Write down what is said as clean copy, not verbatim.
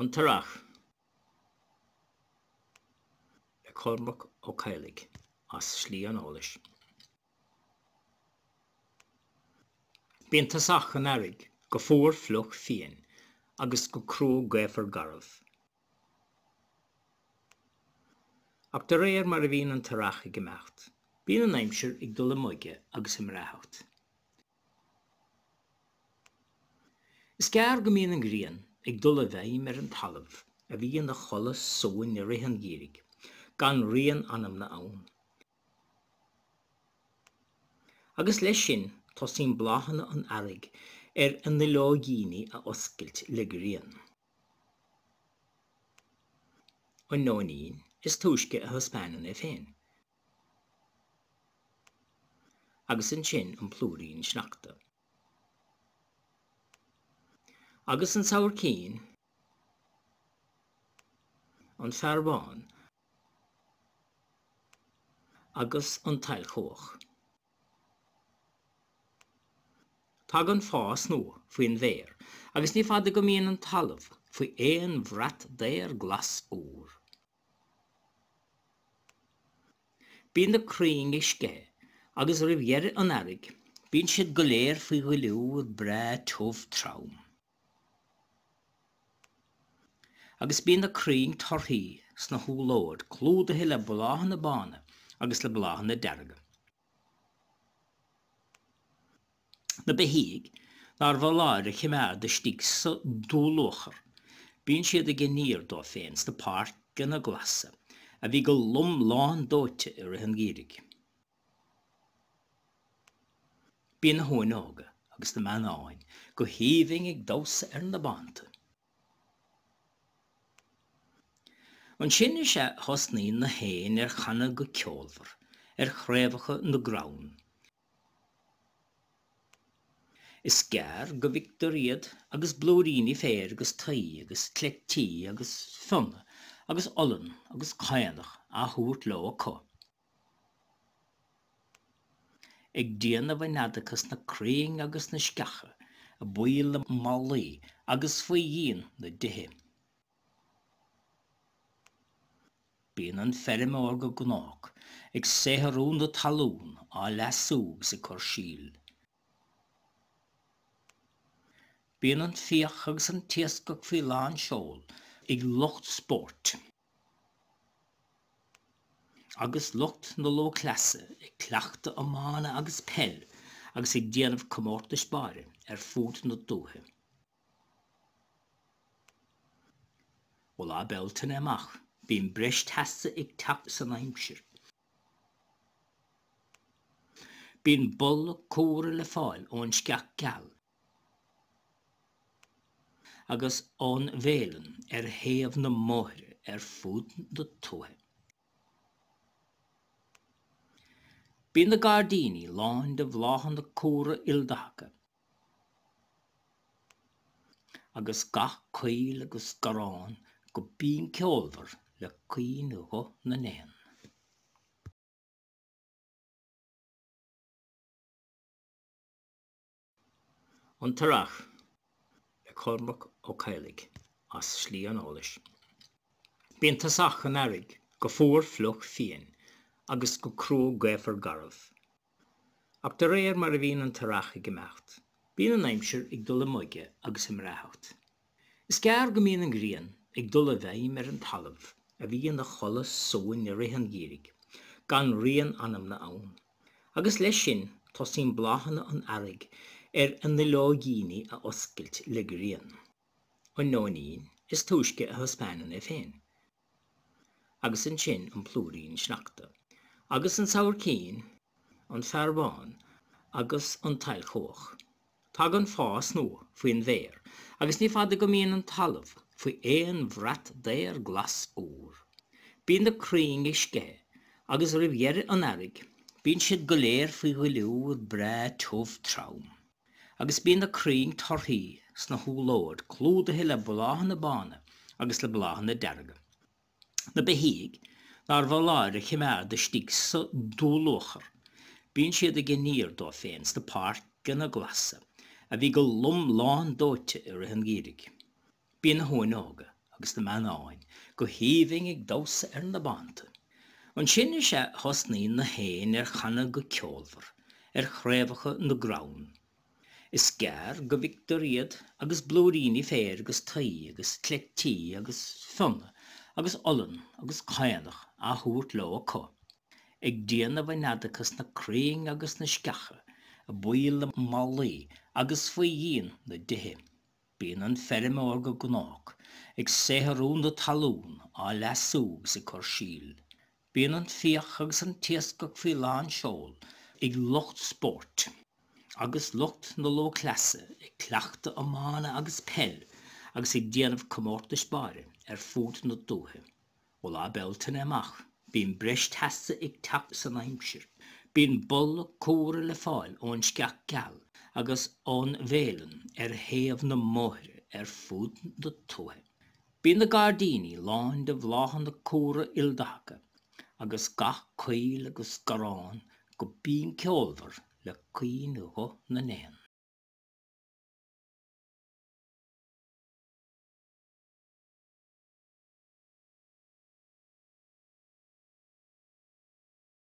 An tEarrach le Cormac Ó Cadhlaigh as Slí an Eolais. Bíonn tosach an earraigh go fuar fliuch fiain agus go crua gaofar garbh. Ach de réir mar a bhíonn an t-earrach ag imeacht, bíonn an aimsir ag dul i mboige agus i mbreáthacht. Is gearr go mbíonn an ghrian ag dul i bhfeidhm ar an talamh a bhí ina chodladh suain i rith an gheimhridh, gan rian anamna ann. Agus leis sin tosaíonn bláthanna an earraigh ar a nduilleoigíní a oscailt le grian. An nóinín is túisce a thaispeánann é féin. Agus ansin an plúirín sneachta. Agus an sabhaircín, an fear bán agus an tsailchuach. Tagann fás nua faoin bhféar agus ní fada go mbíonn an talamh faoi aon bhrat daor glas úr. Bíonn na crainn ag sceitheadh agus roimh dheireadh an earraigh bíonn siad go léir faoi dhuilliúr breá tiubh trom. Agus bíonn na crainn torthaí sna húllóid clúdaithe le bláthanna bána agus le bláthanna dearga. Na beithígh nár bhfoláir a choimeád istigh sa dúluachair, bíonn siad ag iníor dóibh féin sna páirceanna glasa a bhí go lom lándóite i rith an gheimhridh. Bíonn na huain óga agus na meannáin go haoibhinn ag damhsa ar na bánta. Ansin is ea a thosnaíonn na héin ar chanadh go ceolmhar ar chraobhacha na gcrann. Is gearr go bhfeictear iad agus blúiríní féir agus tuí agus cleití agus fionnadh agus olann agus caonach á thabhairt leo acu. Ag déanamh a neadacha sna crainn agus sna sceacha, i bpoill na mballaí agus faoi dhíon na dtithe. Bíonn an feirmeoir go gnách ag saothrú na talún, á leasú agus ag cur síl. Bíonn an fiach agus an t-iascach faoi lán seol ag lucht spóirt, agus lucht na lúthchleasa ag cleachtadh iomána agus peil agus ag déanamh comórtais báire ar fud na dúiche. Ó lá Bealtaine amach bíonn breis teasa ag teacht san aimsir. Bíonn boladh cumhra le fáil ón sceach gheal agus ón bhféileann ar thaobh na mbóithre ar fud na tuaithe. Bíonn na gairdíní lán de bhláthanna cumhra ildathacha. Agus gach coill agus garrán go binn ceolmhar le caoinghuth na n-éan. An tEarrach le Cormac Ó Cadhlaigh as Slí an Eolais. Bíonn tosach an earraigh go fuar fliuch fiain agus go crua gaofar garbh. Ach de réir mar a bhíonn an t-earrach ag imeacht, bíonn an aimsir ag dul i mboige agus i mbreáthacht. Is gearr go mbíonn an ghrian ag dul i bhfeidhm ar an talamh a bhí ina chodladh suain i rith an gheimhridh, gan rian anamna ann. Agus leis sin tosaíonn bláthanna an earraigh ar a nduilleoigíní a oscailt le grian. An nóinín is túisce a thaispeánann é féin. Agus ansin an plúirín sneachta. Agus an sabhaircín, an fear bán agus an tsailchuach. Tagann fás nua faoin bhféar agus ní fada go mbíonn an talamh faoi aon bhrat daor glas úr. Bíonn na crainn ag sceitheadh agus roimh dheireadh an earraigh bíonn siad go léir faoi dhuilliúr breá tiubh trom. Agus bíonn na crainn torthaí sna húllóid clúdaithe le bláthanna bána agus le bláthanna dearga. Na beithígh nár bhfoláir a choimeád istigh sa dúluachair, bíonn siad ag iníor dóibh féin sna páirceanna glasa a bhí go lom lándóite i rith an gheimhridh. Bíonn na huain óga. agus na meannáin go haoibhinn ag damhsa ar na bánta. Ansin is ea a thosnaíonn na héin ar chanadh go ceolmhar ar chraobhacha na gcrann. Is gearr go bhfictear iad agus blúiríní féir agus tuí agus cleití agus fionnadh agus olann agus caonach á thabhairt leo acu, ag déanamh a neadacha sna crainn agus sna sceacha, i bpoill na mballaí agus faoi dhíon na dtithe. Bíonn an feirmeoir go gnách ag saothrú na talún, á leasú agus ag cur síl. Bíonn an fiach agus an t-iascach faoi lán seoil ag lucht spóirt, agus lucht na lúthchleasa ag cleachtadh iomána agus peil agus ag déanamh comórtais báire ar fud na dúiche. Ó Lá Bealtaine amach, bíonn breis teasa ag teacht san aimsir. Bíonn boladh cumhra le fáil ón sceach gheal agus ón bhféileann ar thaobh na mbóithre ar fud na tuaithe. Bíonn na gairdíní lán de bhláthanna cumhra ildathacha agus gach coill agus garrán go binn ceolmhar le caoinghuth na n-éan.